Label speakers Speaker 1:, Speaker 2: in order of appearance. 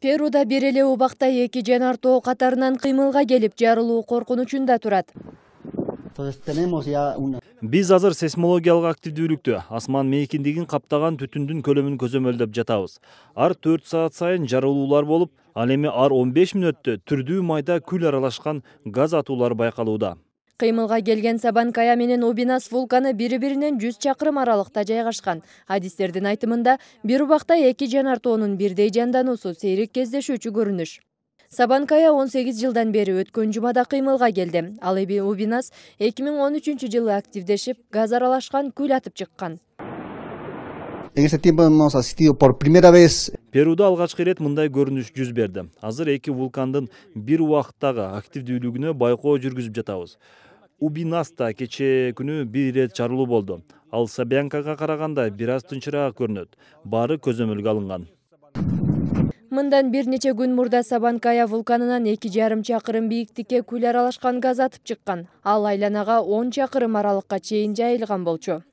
Speaker 1: Перуда бир эле убакта эки жанар тоо катарынан кыймылга келип, жарылуу коркунучунда турат.
Speaker 2: Биз азыр сейсмологиялык активдүүлүктү, асман мейкиндигин каптаган түтүндүн көлөмүн көзөмөлдөп жатабыз. Ар 4 саат сайын жарылуулар болуп, ал эми ар 15 мүнөттө түрдүү майда күл аралашкан газ атуулар байкалууда.
Speaker 1: Кыймылга келген Сабанкая менен Убинас вулканы бири-биринен 100 чакырым аралыкта жайгашкан. Адистердин айтымында, бир убакта эки жанар тоонун бирдей жандануусу сейрек кездешүүчү көрүнүш. Сабанкая 18 жылдан бери өткөн жумада кыймылга келди. Ал эми Убинас 2013-жылы активдешип, газ аралашкан күл атып чыккан.
Speaker 3: En ese tiempo hemos asistido por primera vez.
Speaker 2: Перуда алгачкы ирет мындай көрүнүш жүз берди. Азыр эки вулкандын бир убактагы активдүүлүгүнө байкоо жүргүзүп жатабыз. Убинаста кечээ күнү бир ирет жарылуу болду. Ал Сабанкага караганда бир аз тынчыраак көрүнөт. Баары көзөмөлгө алынган.
Speaker 1: Мындан бир нече күн мурда Сабанкая вулканынан 2,5 чакырым бийиктикке күл аралашкан газ атып чыккан. Ал айланага 10 чакырым аралыкка чейин жайылган болчу.